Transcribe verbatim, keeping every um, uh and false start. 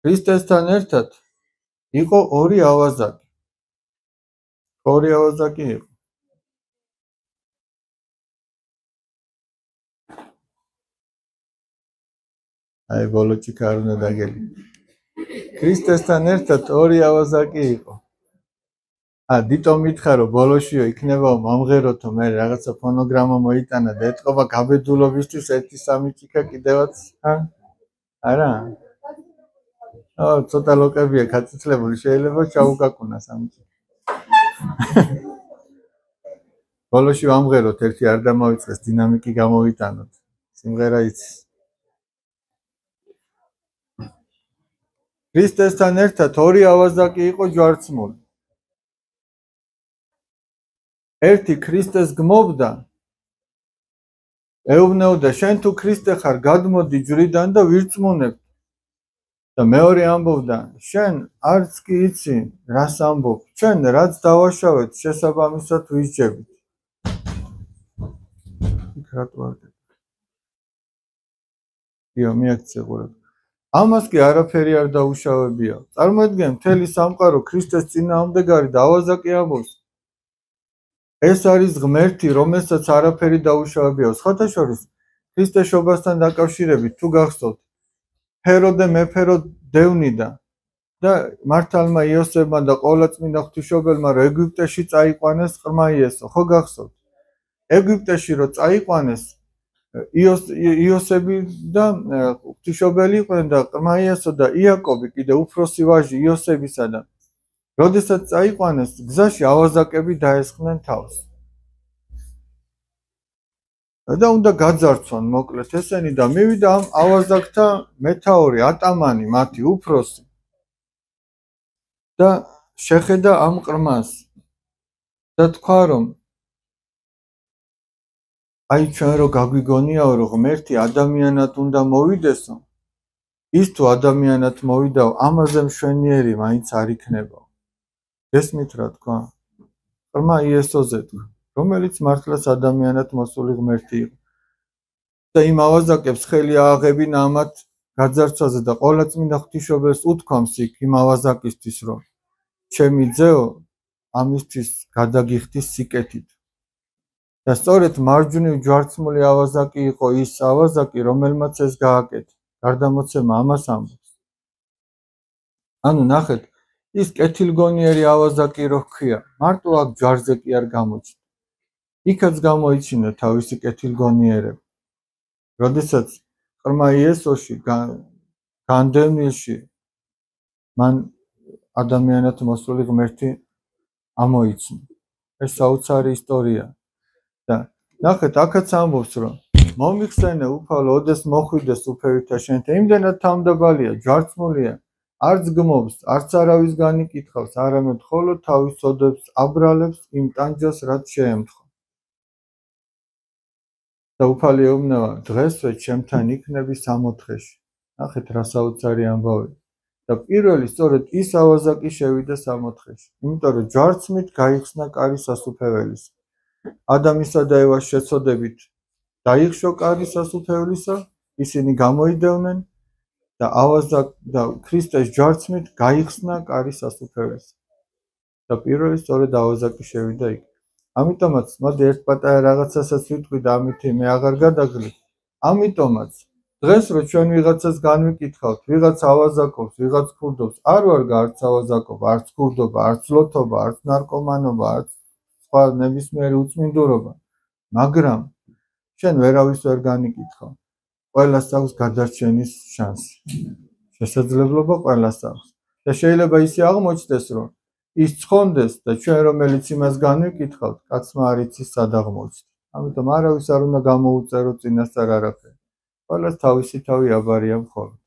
ქრისტესთან ერთად იყო ორი ავაზაკი. ორი ავაზაკი იყო. აი ბოლოჩიკა არ უნდა დაგელი. ქრისტესთან ერთად ორი ავაზაკი იყო. ა დიტო მითხა რომ ბოლოშიო იქნება მომღეროთო მე რაღაცა ფონოგრამა მოიტანა და ეთყობა გაბედულობისთვის ერთი სამი ჭიქა კიდევაც არა? აა ცოტა ლოკებია გაწიწლებული შეიძლება ჩაუკაკუნას ამით. ბოლოში ვამღეროთ ერთი არ დამავიწყეს დინამიკი გამოვიტანოთ. სიმღერა იცის. ქრისტესთან ერთად ორი ავაზაკი იყო ჯვარცმული. ერთი ქრისტეს გმობდა ეუბნეოდა შენ თუ ქრისტე ხარ გადმოდი ჯვრიდან და ვირწმუნებ და მეორე ამბობდა შენ არც კი იცი რას ამბობ ჩვენ რაც დავაშავეთ შესაბამისად ვისჯებით კრატვარდე იო მიაქცე ყურებ ამას კი არაფერი არ დაუშავებია წარმოიდგენ მთელი სამყარო ქრისტეს წინააღმდეგარი და ავაზაკი ამბობს ეს არის ღმერთი, რომელსაც არაფერი დაუშავებია. სხვათა შორის, ქრისტეს შობასთან დაკავშირებით თუ გახსოვთ, ჰეროდე მეფერო დევნიდა და მართალმა იოსებმა და ყოვლადწმინდა ღვთისმშობელმა რომ ეგვიპტეში წაიყვანეს ყრმა იესო. ხო გახსოვთ? ეგვიპტეში რომ წაიყვანეს იოსები და ღვთისმშობელი იყვნენ და ყრმა იესო და იაკობი კიდე უფროსი ვაჟი იოსებისა და როდესაც წაიყვანეს გზაში ავაზაკები დაესხნენ თავს. და უნდა გაძარცვან მოკლედ ესენი და მივიდა ამ ავაზაკთა მეთაური ატამანი მათი უფროსი და შეხედა ამ ყრმას და თქვა რომ აი ჩვენ რო გაგვიგონიაო რომ ღმერთი ადამიანად უნდა მოვიდესო ის თუ ადამიანად მოვიდაო ამაზე მშვენიერი მაინც არ იქნება. ესმით რა თქვა ყრმა იესოზე თქვა რომელიც მართლაც ადამიანად მოსული ღმერთი იყო და იმ ავაზაკებს ხელი ააღებინა ამათ გაძარცვაზე და ყოვლადწმინდა ღვთისმშობელს უთქვამს იქ იმ ავაზაკისთვის რომ ჩემი ძეო ამისთვის გადაგიხდი სიკეთით და სწორედ მარჯვნივ ჯვარცმული ავაზაკი იყო ის ავაზაკი რომელმაც ეს გააკეთა გარდამოცემა ამას ამბობს ანუ ნახეთ ის კეთილგონიერი ავაზაკი რო ჰქვია მარტო აქ ჯვარზე კი არ გამოჩნდა იქაც გამოიჩინა თავისი კეთილგონიერება როდესაც ყრმა იესოში განდევნილში მან ადამიანად მოსული ღმერთი ამოიცნო ეს საოცარი ისტორია და ნახეთ აქაც ამბობს რომ მომიხსენე უფალო ოდეს მოხვიდეს უფევითა შენთან იმდენად თავმდაბალია ჯვარცმულია არც გმობს, არც არავის განიკითხავს, არამედ მხოლოდ თავის ოდებს აბრალებს იმ ტანჯას, რაც შეემთხვა. და უფალი ეუბნება, დღესვე ჩემთან იქნები სამოთხეში. ნახეთ რა საოცარი ამბავი. და პირველი სწორედ ის ავაზაკი შევიდა სამოთხეში. იმიტომ რომ ჯვარცმით გაიხსნა კარი სასუფეველისა. ადამისა და ევას შეცოდებით დაიხშო კარი სასუფეველისა, ისინი გამოიდევნენ და ავაზაკ და ქრისტეს ჯვარცმით გაიხსნა კარი სასუფეველისა. და პირველი სწორედ ავაზაკი შევიდა იქ. ამიტომაც მოდი ერთ პატარა რაღაცასაც ვიტყვი და ამითი მე აღარ გადაგლი. ამიტომაც დღეს რო ჩვენ ვიღაცას განვიკითხავთ, ვიღაც ავაზაკობს, ვიღაც ქურდობს, არ ვარ არც ავაზაკობა, არც ქურდობა, არც ლოთობა, არც ნარკომანობა, არც სხვა ნებისმიერი უწმინდურობა, მაგრამ შენ ვერავის ვერ განიკითხავ. ყველას აქვს გადარჩენის შანსი. შესაძლებლობა ყველას აქვს. და შეიძლება ისე აღმოჩნდეს, რომ ის ცხონდეს და ჩვენ რომელიც იმას განვიკითხავთ, კაცმა არ იცის სად აღმოჩნდა. ამიტომ არავის არ უნდა გამოუწერო წინასწარ არაფერი. ყველას თავისი თავი აბარია მხოლოდ.